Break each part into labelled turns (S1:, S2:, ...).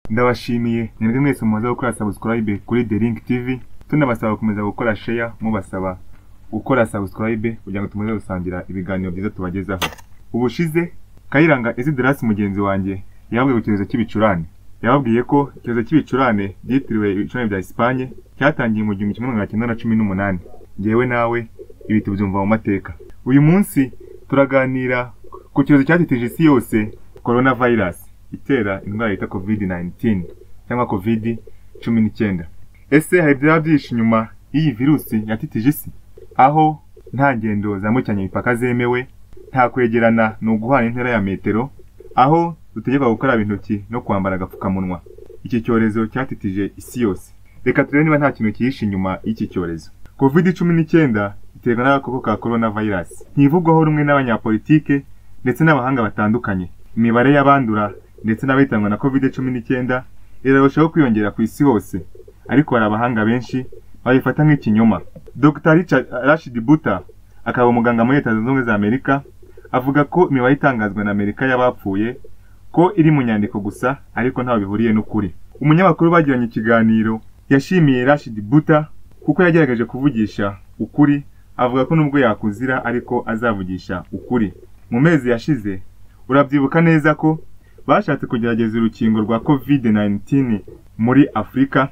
S1: Ndabashimiye mwebwe mwese mumaze gukora subscribe kuri The Link TV, tunabasaba gukomeza gukora share, mubasaba gukora subscribe kugira ngo tumaze gusangira ibiganiro byiza tubagezaho. Ubushize Kayiranga Isidras mugenzi wanjye yabwiye icyorezo cy'ibicurane. Yababwiye ko icyorezo cy'ibicurane byitiriwe ibicurane bya Espagne cyatangiye mu 1918. Ngewe nawe ibi tubyumva mu mateka. Uyu munsi turaganira ku cyorezo cyatitije isi yose, coronavirus itera indwara yita COVID-19 cyangwa COVID-19. Ese hari byinshi nyuma y'iyi virusi yatitije isi? Aho nta ngendo zambukiranya imipaka zemewe, nta kwegerana no guhana intera ya metero, aho dutegeka gukaraba intoki no kwambara agapfukamunwa. Iki cyorezo cyatitije isi yose. Reka turebe niba nta kintu kihishe inyuma y'iki cyorezo. COVID-19 iterwa n'agakoko ka coronavirus. Ntivugwaho rumwe n'abanyapolitike ndetse n'abahanga batandukanye. Imibare y'abandura ndetse n'abahitanwa na COVID-19 irarushaho kwiyongera ku isi hose, ariko hari abahanga benshi babifata nk'ikinyoma. Dr. Rashid Buta, akaba umuganga muri Leta Zunze Ubumwe za Amerika, avuga ko imibare itangazwa na Amerika y'abapfuye ko iri mu nyandiko gusa, ariko ntaho bihuriye n'ukuri. Umunyamakuru bagiranye ikiganiro yashimiye Rashid Buta kuko yagerageje kuvugisha ukuri, avuga ko nubwo yakuzira ariko azavugisha ukuri. Mu mezi yashize urabyibuka neza ko bashatse kugerageza urukingo rwa COVID-19 muri Afrika,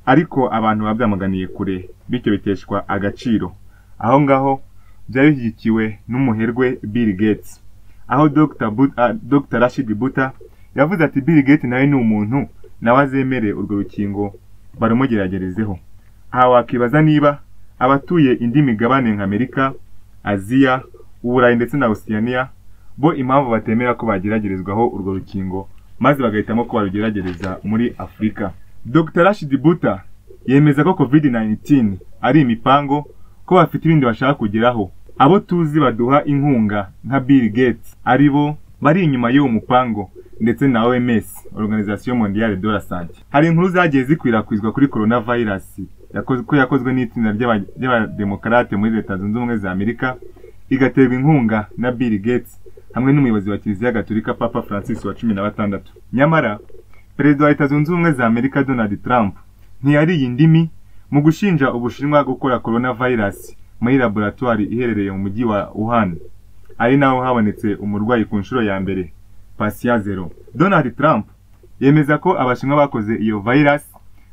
S1: ariko abantu babyamaganiye kure, bityo biteshwa agaciro. Aho ngaho byari bishyigikiwe n'umuherwe Bill Gates, aho Dr. Rashid Buta yavuze ati Bill Gates nawe ni umuntu, nawe azemere urwo rukingo barumugeragerezeho. Aha wakibaza niba abatuye indi migabane nka Amerika, Aziya, Uburayi ndetse na Oceania bo impamvu batemera ko bageragerezwaho urwo rukingo maze bagahitamo ko barugeragereza muri Afrika. Dr. Rashid Buta yemeza ko COVID-19 ari imipango, ko bafite ibindi bashaka kugeraho. Abo tuzi baduha inkunga nka Bill Gates aribo bari inyuma y'uwo mupango, ndetse na OMS, Organisation Mondiale de la Santé. Hari inkuru zagiye zikwirakwizwa kuri coronavirus yakozwe n'itsinda ry'abademokarate muri Leta Zunze Ubumwe za Amerika, igaterwa inkunga na Bill Gates hamwe n'umuyobozi wa Kiliziya Gatolika Papa Francis wa 16. Nyamara Perezida wa Leta Zunze Ubumwe za Amerika Donald Trump ntiyari indimi mu gushinja Ubushinwa gukora coronavirus muri laboratoire iherereye mu mujyi wa Wuhan, ari naho habonetse umurwayi ku nshuro ya mbere, patient zero. Donald Trump yemeza ko Abashinwa bakoze iyo virus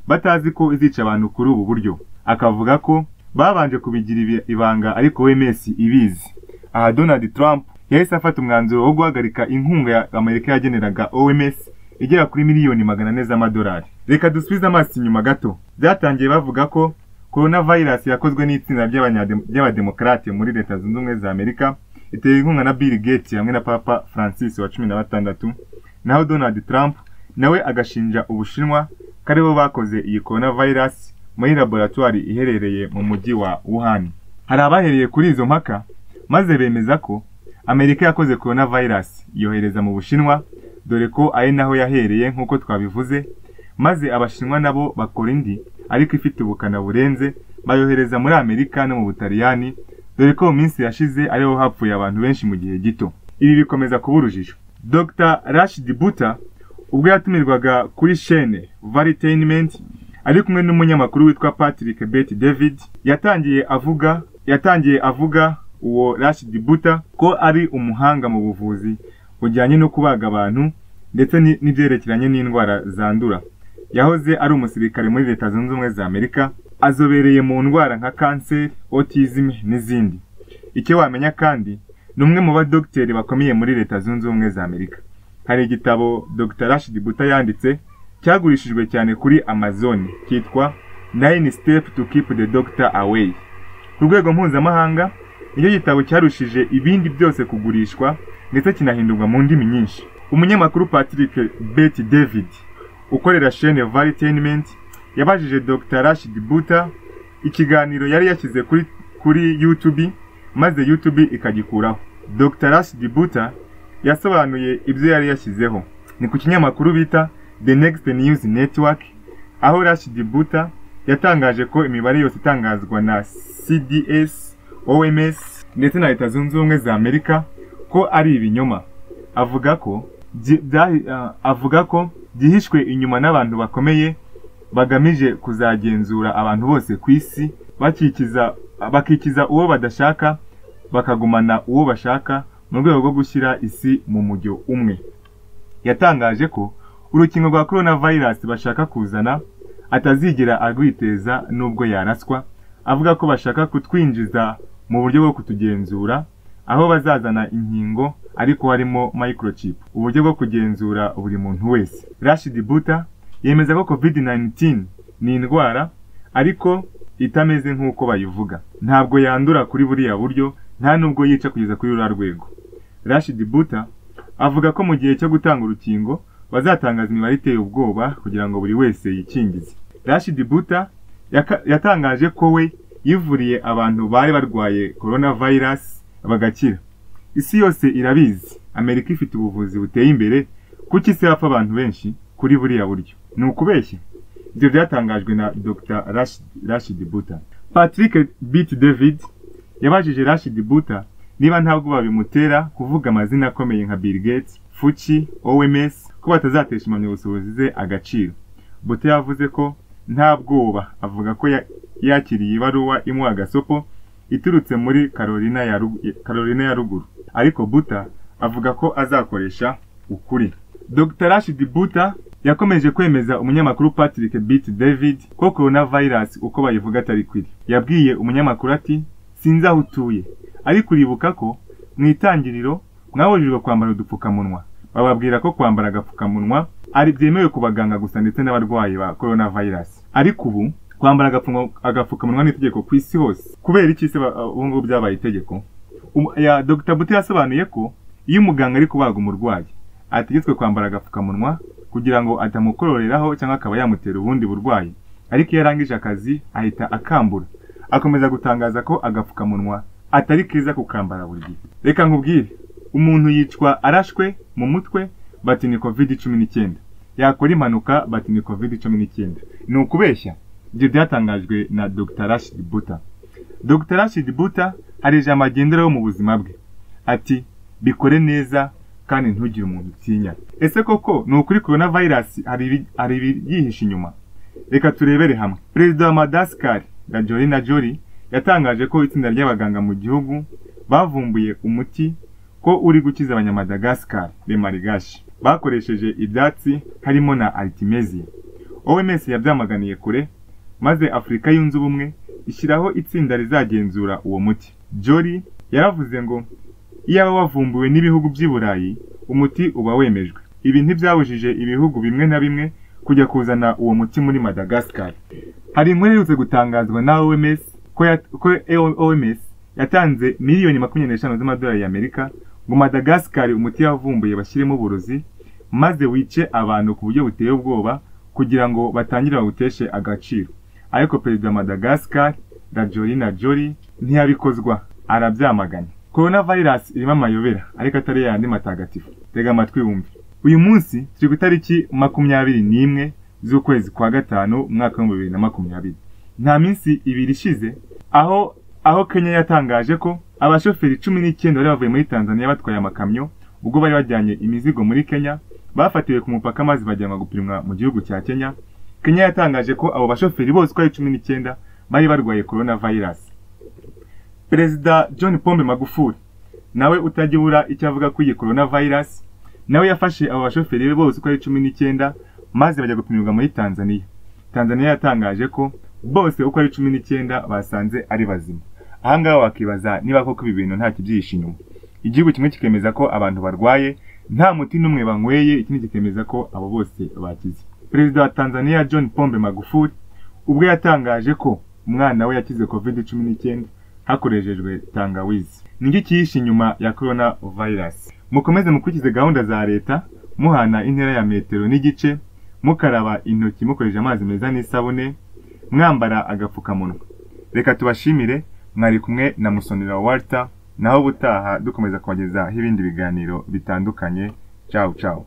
S1: batazi ko izica abantu kuri ubu buryo, akavuga ko babanje kubigira ibanga ariko OMS ibizi. Aha Donald Trump yahise afata umwanzuro wo guhagarika inkunga ya Amerika yageneraga OMS igera kuri miliyoni 400 z'amadolari. Reka dusubize amaso inyuma gato. Byatangiye bavuga ko coronavirus yakozwe n'itsinda ry'abademokarate muri Leta Zunze Ubumwe za Amerika, iteye inkunga na Bill Gates hamwe na Papa Francis wa 16. Naho Donald Trump nawe agashinja Ubushinwa karibo bakoze iyi coronavirus muri laboratoire iherereye mu mujyi wa Wuhan. Hari abahereye kuri izo mpaka maze bemeza ko Amerika yakoze coronavirus yohereza mu Bushinwa, dore ko ari naho yahereye nk'uko twabivuze, maze Abashinwa nabo bakora indi ariko ifite ubukana burenze, bayohereza muri Amerika no mu Butaliyani, dore ko mu minsi yashize ariho hapfuye abantu benshi mu gihe gito. Ibi bikomeza kuba urujijo. Dr. Rashid Buta ubwo yatumirwaga kuri chaîne Varitainment ari kumwe n'umunyamakuru witwa Patrick Bet David, yatangiye avuga uwo Rashid Buta ko ari umuhanga mu buvuzi bujyanye no kubaga abantu ndetse n'ibyerekeranye n'indwara zandura. Yahoze ari umusirikare muri Leta Zunze Ubumwe za Amerika, azobereye mu ndwara nka cancer, autism n'izindi. Icyo wamenya kandi ni umwe mu badokiteri bakomeye muri Leta Zunze Ubumwe za Amerika. Hari igitabo Dr. Rashid Buta yanditse cyagurishijwe cyane kuri Amazon cyitwa 9 Steps to Keep the Doctor Away. Ku rwego mpuzamahanga iyo gitabo cyarushije ibindi byose kugurishwa ndetse kinahindurwa mu ndimi nyinshi. Umunyamakuru Patrick Bet David ukorera chaîne Varitainment yabajije Dr. Rashid Buta ikiganiro yari yashyize kuri YouTube, maze YouTube ikagikuraho. Dr. Rashid Buta yasobanuye ibyo yari yashyizeho. Ni ku kinyamakuru bita The Next News Network, aho Rashid Buta yatangaje ko imibare yose itangazwa na CDS, OMS ndetse na Leta Zunze Ubumwe za Amerika ko ari ibinyoma. Avuga ko byihishwe inyuma n'abantu bakomeye bagamije kuzagenzura abantu bose ku isi, bakikiza uwo badashaka bakagumana uwo bashaka mu rwego rwo gushyira isi mu mujyo umwe. Yatangaje ko urukingo rwa coronavirus bashaka kuzana atazigera arwiteza nubwo yaraswa, avuga ko bashaka kutwinjiza mu buryo bwo kutugenzura, aho bazazana inkingo ariko harimo microchip, uburyo bwo kugenzura buri muntu wese. Rashid Buttar yemeza ko COVID-19 ni indwara ariko itameze nk'uko bayivuga, ntabwo yandura kuri buriya buryo, nta nubwo yica kugeza kuri ruriya rwego. Rashid Buttar avuga ko mu gihe cyo gutanga urukingo bazatangaza imibare iteye ubwoba kugira ngo buri wese yikingize. Rashid Buttar yatangaje ko we yivuriye abantu bari barwaye coronavirus bagakira. Isi yose irabizi Amerika ifite ubuvuzi buteye imbere, kuki isi hapfa abantu benshi kuri buriya buryo? Ni ukubeshya? Ibyo byatangajwe na Dr. Rashid Buttar. Patrick Bet-David yabajije Rashid Buttar niba ntabwo babimutera kuvuga amazina akomeye nka Bill Gates, Fauci, OMS ko batazatesha impamyabushobozi ze agaciro. Buttar yavuze ko nta bwoba, avuga ko yakiriye ibaruwa imuha agasopo iturutse muri Carolina ya ruguru, ariko Buttar avuga ko azakoresha ukuri. Dr. Rashid Buttar yakomeje kwemeza umunyamakuru Patrick Bet-David ko coronavirus uko bayivuga atari kwiri. Yabwiye umunyamakuru ati, sinzi aho utuye, ariko uribuka ko mu itangiriro mwabujijwe kwambara udupfukamunwa, bababwira ko kwambara agapfukamunwa ari byemewe ku baganga gusa ndetse n'abarwayi ba coronavirus, ariko ubu kwambara agapfukamunwa n'itegeko ku isi hose. Kubera iki se ubu ngubu byabaye itegeko? Dr. Buttar yasobanuye ko iyo umuganga ari kubaga umurwayi ategetswe kwambara agapfukamunwa kugira ngo atamukororeraho cyangwa akaba yamutera ubundi burwayi, ariko iyo arangije akazi ahita akambura. Akomeza gutangaza ko agapfukamunwa atari keza kukambara buri gihe. Reka nkubwire, umuntu yicwa arashwe mu mutwe bati ni COVID-19, yakora impanuka bati ni COVID-19. Ni ukubeshya? Ibyo byatangajwe na Dr. Rashid Buttar. Dr. Rashid Buttar hari ijambo agenderaho mu buzima bwe, ati bikore neza kandi ntugire umuntu utinya. Ese koko ni ukuri coronavirus hari ibyihishe inyuma? Reka turebere hamwe. Perezida wa Madagascar Angelina Jolie yatangaje ko itsinda ry'abaganga mu gihugu bavumbuye umuti ko uri gukiza abanyamadagascar b'emarigashi bakoresheje ibyatsi harimo na artemisia. OMS yabyamaganiye kure, maze Afrika yunze ubumwe ishyiraho itsinda rizagenzura uwo muti. Jolie yaravuze ngo iyo wavumbuwe n'ibihugu by'i Burayi umuti uba wemejwe. Ibi ntibyabujije ibihugu bimwe na bimwe kujya kuzana uwo muti muri Madagascar. Hari inkuru iherutse gutangazwa na OMS ko OMS yatanze miliyoni 25 z'amadolari y'Amerika ngo Madagascar umuti yavumbuye bashyiremo uburozi maze wice abantu ku buryo buteye ubwoba kugira ngo batangire bawuteshe agaciro. Ariko perezida wa Madagascar Angelina Jolie ntiyabikozwa, arabyamaganya. Coronavirus irimo amayobera ariko atari yandi matagatifu. Tega amatwi wumve. Uyu munsi turi ku itariki 21 z'ukwezi kwa gatanu umwaka wa 2020. Nta minsi ibiri ishize aho Kenya yatangaje ko abashoferi 19 bari bavuye muri Tanzania batwaye amakamyo ubwo bari bajyanye imizigo muri Kenya bafatiwe ku mupaka maze bajyanwa gupimwa mu gihugu cya Kenya. Kenya yatangaje ko abo bashoferi bose kwa 19 bari barwaye coronavirus. Perezida John Pombe Magufuli nawe utajibura icyo avuga ko iyi coronavirus, nawe yafashe abo bashoferi bose kwa 19 maze bajya gupimirwa muri Tanzania. Tanzania yatangaje ko bose uko ari 19 basanze ari bazima. Ahangaho wakibaza niba koko ibi bintu nta kibyihishe inyuma. Igihugu kimwe kikemeza ko abantu barwaye nta muti n'umwe banyweye, ikindi kikemeza ko abo bose bakize. Perezida wa Tanzania John Pombe Magufuli ubwo yatangaje ko umwana we yakize COVID-19 hakoreshejwe tangawizi. Niki kihishe inyuma ya coronavirus? Mukomeze mukurikize gahunda za leta, muhana intera ya metero n'igice, mukaraba intoki mukoresheje amazi meza n'isabune, mwambara agapfukamunwa. Reka tubashimire, mwari kumwe na Musonera Walter, naho butaha dukomeza kubagezaho ibindi biganiro bitandukanye. Ciao ciao.